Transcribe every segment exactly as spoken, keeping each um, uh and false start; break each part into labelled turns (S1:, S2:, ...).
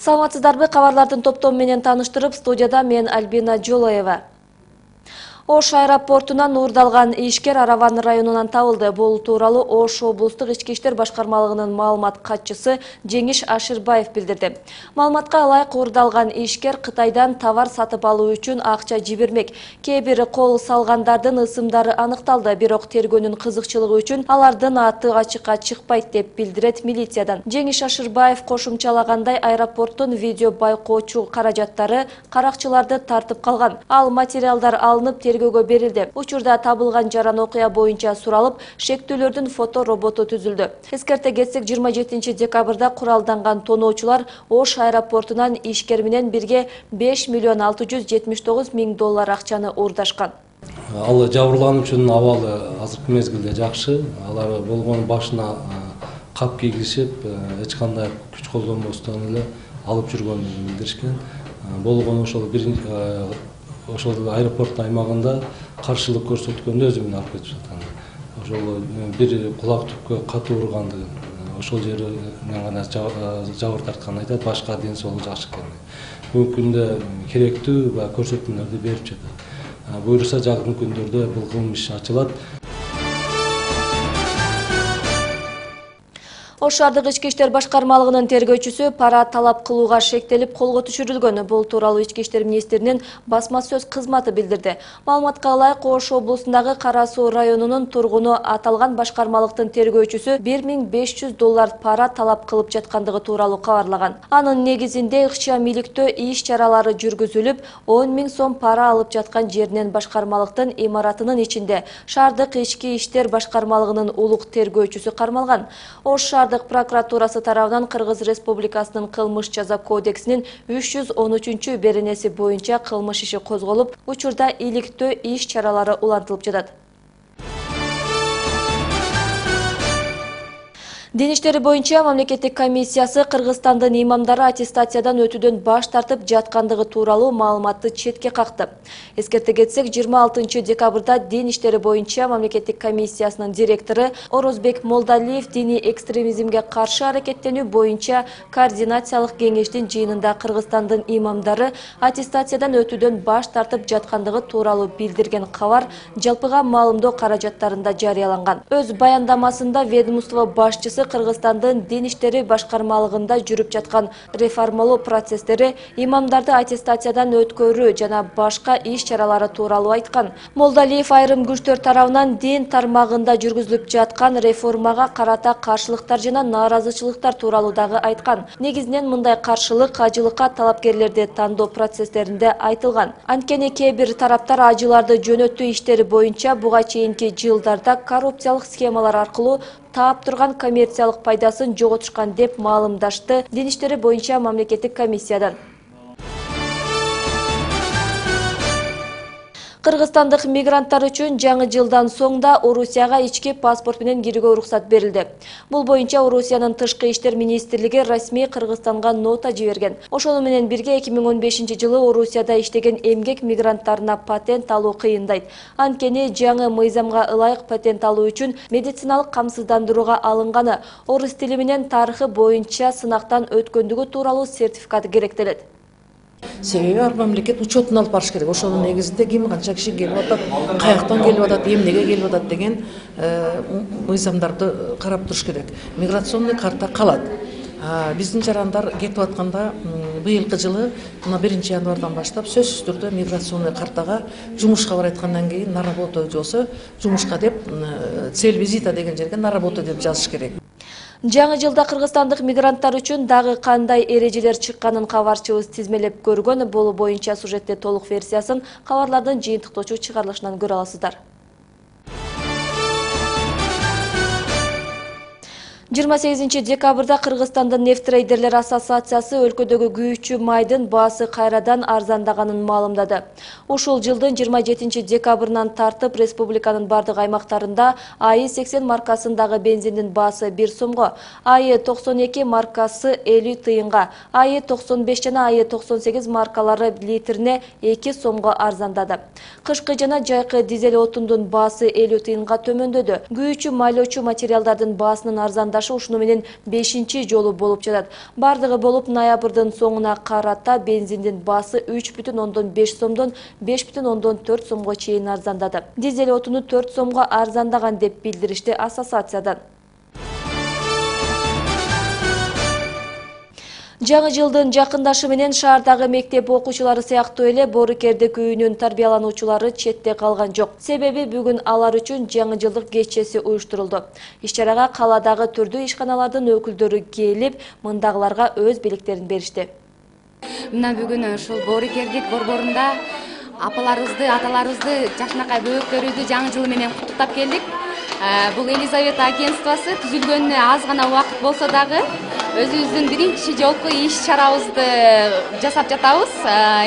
S1: Саламатсыздарбы, кабарлардын топтому менен тааныштырып, студияда мен Альбина Жолоева. Ош аэропортунан уурдалган ишкер Араван районунан табылды. Бул тууралуу Ош облустук ички иштер башкармалыгынын маалымат катчысы Жеңиш Ашырбаев билдирди. Маалыматка ылайык уурдалган ишкер Кытайдан товар сатып алуу үчүн акча жибермек. Кээ бир кол салгандардын ысымдары аныкталды, бирок тергөөнүн кызыкчылыгы үчүн алардын аты ачыкка чыкпайт деп билдирет милициядан. Жеңиш Ашырбаев кошумчалагандай, аэропорттун видео байкоочу каражаттары каракчыларды тартып калган. Ал материалдар алынып тергөөгө берилди. Учурда табылган жаран окуя боюнча суралып, шектүүлөрдүн фото роботу түзүлдү. Эскерте кетсек, жыйырма жетинчи декабрда куралданган тоноочулар Ош аэропортунан ишкер менен бирге беш миллион алты жүз жетимиш тогуз миң доллар акчаны уурдашкан.
S2: Ал жабырлануучунун абалы азыркы мезгилде жакшы. Алар болгон башына кап кийгизип, эч кандай күч колдонбостон эле алып жүргөнүн билдиришкен. Болгон ошол бир ошол аэропорт аймагында каршылык көрсөткөндө өзү менен алып кетип жаткан. Ошол бир кулак түпкө катуу ургандыгын, ошол жеринен гана жабыр тартканын айтат, башка ден соолугу жакшы экенин. Бүгүнкү күндө керектүү баягы көрсөтмөлөрдү берип жатат. Буюрса жакын күндөрдө бул кылмыш иши ачылат.
S1: Ош шаардык ички иштер башкармалыгынын тергөөчүсү пара талап кылууга шектелип колго түшүрүлгөн. Бул тууралуу ички иштер министринин басма сөз кызматы билдирди. Маалыматка ылайык, Ош облусундагы Кара Суу районунун тургуну аталган башкармалыктын тергөөчүсү бир миң беш жүз доллар пара талап кылып жаткандыгы тууралуу кабарлаган. Анын негизинде ыкчам иликтөө иш чаралары жүргүзүлүп, он миң сом пара алып жаткан жеринен башкармалыктын имаратынын ичинде шаардык ички иштер башкармалыгынын улук тергөөчүсү кармалган. Ош шаардык прокуратурасы тарабынан Кыргыз Республикасынын кылмыш жаза кодексинин үч жүз он үчүнчү беренеси боюнча кылмыш иши козголуп, учурда иликтөө иш чаралары улантылып жатат. Дин иштери боюнча мамлекеттик комиссиясы Кыргызстандын имамдары аттестациядан өтүүдөн баш тартып жаткандыгы тууралуу маалыматты четке какты. Эскерте кетсек, жыйырма алтынчы декабрда Дин иштери боюнча мамлекеттик комиссиясынын директору Орозбек Молдалиев диний экстремизмге каршы аракеттенүү боюнча координациялык кеңештин жыйынында Кыргызстандын имамдары аттестациядан өтүүдөн баш тартып жаткандыгы тууралуу билдирген кабар жалпыга маалымдоо каражаттарында жарыяланган. Өз баяндамасында ведомство башчысы Кыргызстандын дин иштери башкармалыгында жүрүп жаткан реформалоо процесстери, имамдарды аттестациядан өткөрүү жана башка иш чаралары тууралуу айткан. Молдалиев айрым күчтөр тарабынан дин тармагында жүргүзүлүп жаткан реформага карата каршылыктар жана нааразычылыктар тууралуу дагы айткан. Негизинен мындай каршылык ажылыкка талапкерлерди тандоо процесстеринде айтылган. Анткени кээ бир тараптар ажыларды жөнөтүү иштери боюнча буга чейинки жылдарда коррупциялык схемалар аркылуу таап турган коммерциялык пайдасын жоготушкан деп маалымдашты дин иштери боюнча мамлекеттик комиссиядан. Кыргызстандык мигранттар үчүн жаңы жылдан соң да Орусияга ички паспорт менен кирүүгө уруксат берилди. Бул боюнча Орусиянын тышкы иштер министрлиги расмий Кыргызстанга нота жиберген. Ошону менен бирге эки миң он бешинчи жылы Орусияда иштеген эмгек мигранттарына патент алуу кыйындайт. Анткени жаңы мыйзамга ылайык патент алуу үчүн медициналык камсыздандырууга алынганы, орус тили менен тарыхы боюнча сынактан өткөндүгү тууралуу сертификат керектелет.
S3: Себеби ар мамлекет учетун алып барыш керек. Ошонун негизинде ким канча киши келип атат, каяктан келип атат, эмнеге келип атат деген мыйзамдарды карап туруш керек. Миграционный карта калат. Биздин жарандар кетип атканда быйылкы жылы мына биринчи январдан баштап сөзсүз түрдө миграционный картага жумушка барайткандан кийин на работу болсо жумушка деп цель визита деген жерге на работу деп жазыш керек.
S1: Жаңы жылда кыргызстандык мигранттар үчүн дагы кандай эрежелер чыкканын кабарчыбыз тизмелеп көргөн. Бул боюнча сюжетте толук версиясын кабарлардын жыйынтыктоочу чыгарылышынан көрө аласыздар. жыйырма сегизинчи декабрда Кыргызстандын нефтрейдерлер ассоциациясы өлкөдөгү күйүүчү майдын баасы кайрадан арзандаганын маалымдады. Ушул жылдын жыйырма жетинчи декабрынан тартып республиканын бардык аймактарында АИ сексен маркасындагы бензиндин баасы бир сомго, АИ токсон эки маркасы элүү тыйынга, АИ токсон беш жана АИ токсон сегиз маркалары литрине эки сомго арзандады. Кышкы жана жайкы дизель отундун баасы элүү тыйынга төмөндөдү. Күйүүчү майлоочу материалдардын баасынын арзандашышы жакындашы ушуну менен бешинчи жолу болуп жатат. Бардыгы болуп ноябрдын соңуна карата бензиндин баасы үч бүтүн ондон беш сомдон беш бүтүн ондон төрт сомго чейин арзандады. Дизель отуну төрт сомго арзандаган деп билдиришти ассоциациядан. Жаңы жылдын жакындашы менен шаардагы мектеп окуучулары сыяктуу эле Боорукердик үйүнүн тарбиялануучулары четте калган жок. Себеби бүгүн алар үчүн жаңы жылдык кечеси уюштурулду. Иш-чарага калаадагы түрдүү ишканалардын өкүлдөрү келип, мындагыларга өз белектерин беришти.
S4: Мына бүгүн ушул Боорукердик борборунда апаларыбызды, аталарыбызды, жакшынакай бөбөктөрүбүздү жаңы жыл менен куттуктап келдик. Бул Елизавета агентствосы түзүлгөнүнө аз гана убакыт болсо дагы өзүбүздүн биринчи жолку иш-чарабызды жасап жатабыз.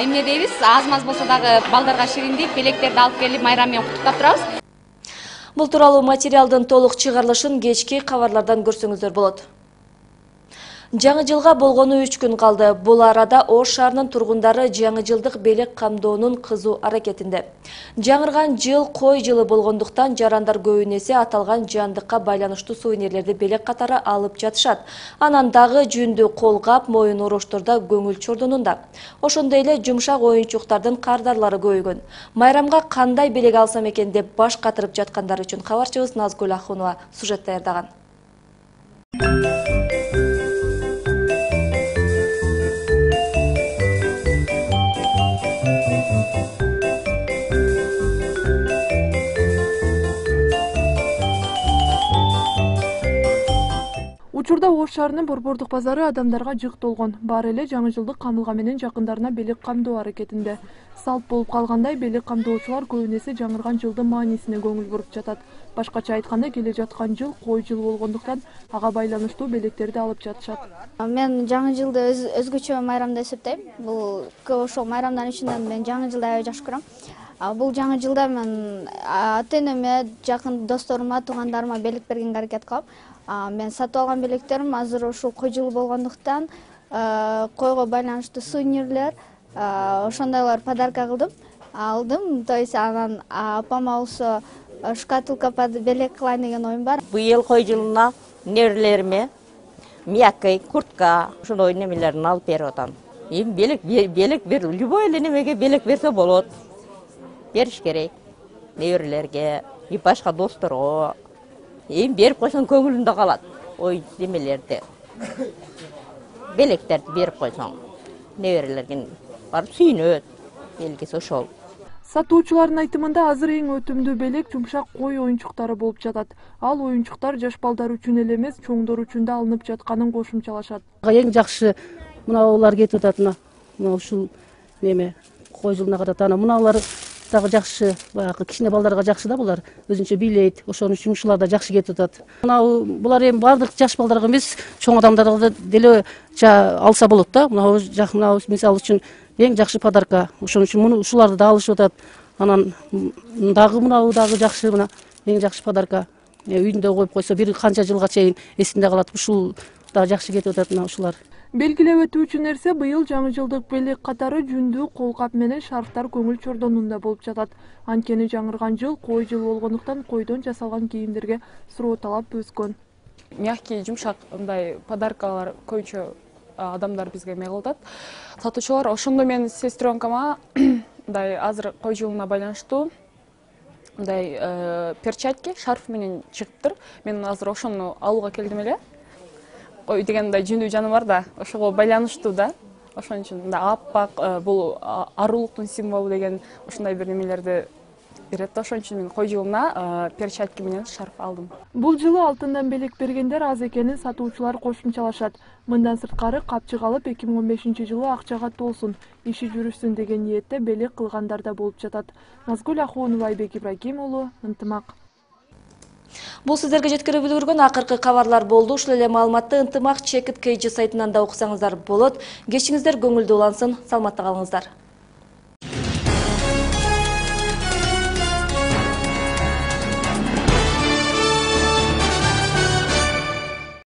S4: Эмне дейбиз? Аз-маз болсо дагы балдарга шириндик, белектерди алып келип майрам менен куттуктап турабыз.
S1: Бул тууралуу материалдын толук чыгарылышын кечки кабарлардан көрсөңүздөр болот. Жаңы жылга болгону үч күн калды. Бул арада Ош шаарынын тургундары жаңы жылдык белек камдоонун кызуу аракетинде. Жаңырган жыл кой жылы болгондуктан жарандар көбүнесе аталган жандыкка байланыштуу сувенирлерди белек катары алып жатышат. Анан дагы жүндү колгап, моюн ороштордо көңүл чордонунда. Ошондой эле жумшак оюнчуктардын кардарлары көбөйгөн. Майрамга кандай белек алсам экен деп баш катырып жаткандар үчүн кабарчыбыз Назгүл Ахунова сюжет даярдаган.
S5: Учурда Ош шаарынын борбордук базары адамдарга жык толгон. Баары эле жаңы жылдык камылга менен жакындарына белек камдоо аракетинде. Салт болуп калгандай белек камдоочулар көбүнесе жаңырган жылдын маанисине көңүл буруп жатат. Башкача айтканда, келе жаткан жыл кой жыл болгондуктан ага байланыштуу белектерди алып жатышат.
S6: Мен жаңы жылды өз, өзгөчө майрам деп эсептейм. Бул көп ошол майрамдын ичинен мен жаңы жылды аябай жакшы көрөм. Бул жаңы жылда мен ата-энеме, жакын досторума, туугандарыма белек бергенге аракет кылам. Мен сатып алган белектерим азыр ушул кой жылы болгондуктан койго байланыштуу сувенирлер, ошондойлор подарка кылдым. Алдым, то есть анан апама болсо шкатулка белек кылайын деген оюм бар.
S7: Быйыл кой жылына неберелериме мяккай, куртка, ошондой немелерин алып берип атам. Эми белек белек бер, любой эле немеге белек берсе болот. Бериш керек неберелерге, и башка досторго. Эми берип койсоң көңүлүндө калат. Ой, немелерди. Белектерди берип койсоң, неберелерге барып сүйүнөт. Белгиси ошол.
S5: Сатуучулардын айтымында азыр эң өтүмдүү белек жумшак кой оюнчуктары болуп жатат. Ал оюнчуктар жаш балдар үчүн эле эмес, чоңдор үчүн да алынып жатканын кошумчалашат.
S8: Эң жакшы мынаулар кетип атат, мына ушул неме кой жылына карата анан мыналар дагы жакшы, баягы кичине балдарга жакшы да, булар өзүнчө бийлейт. Ошон үчүн ушулар да жакшы кетип атат. Мына булар эми бардык жаш балдарга эмес, чоң адамдарга деле алса болот да. Мына мына мисалы үчүн эң жакшы подарка. Ошон үчүн муну ушуларды да алышып атат. Анан дагы мынау дагы жакшы, мына эң жакшы подарка. Үйүндө коюп койсо бир канча жылга чейин эсинде калат. Ушул да жакшы кетип атат мына ушулар.
S5: Белгилеп өтүүчү нерсе, быйыл жаңы жылдык белек катары жүндүү колкап менен шарфтар көңүл чордонунда болуп жатат. Анткени жаңырган жыл кой жыл болгондуктан койдон жасалган кийимдерге суроо талап өскөн.
S9: Мягкий, жумшак мындай подаркалар көбүнчө адамдар бизге эме кылат. Сатуучулар ошондо мен сестренкама мындай азыр кой жылына байланыштуу мындай перчатки, шарф менен чыгыптыр. Мен азыр ошону алууга келдим эле. Ой деген мындай жүндүү жаныбар да, ошого байланыштуу да. Ошон үчүн мындай аппак, бул арулуктун символу деген ушундай бир немелерди берет. Ошон үчүн мен кой жылына перчатки менен шарф алдым.
S5: Бул жылы алтындан белек бергендер аз экенин сатуучулар кошумчалашат. Мындан сырткары капчык алып эки миң он бешинчи жылы акчага толсун, иши жүрүшсүн деген ниетте белек кылгандар да болуп жатат. Назгүл Ахунова, Айбек Ибрагим уулу, Ынтымак.
S1: Бул сиздерге жеткирип үлгүргөн акыркы кабарлар болду. Ушул эле маалыматты Ынтымак Чекит Кей Жи сайтынан да уксаңыздар болот. Кечиңиздер көңүлдүү улансын, саламатта калыңыздар.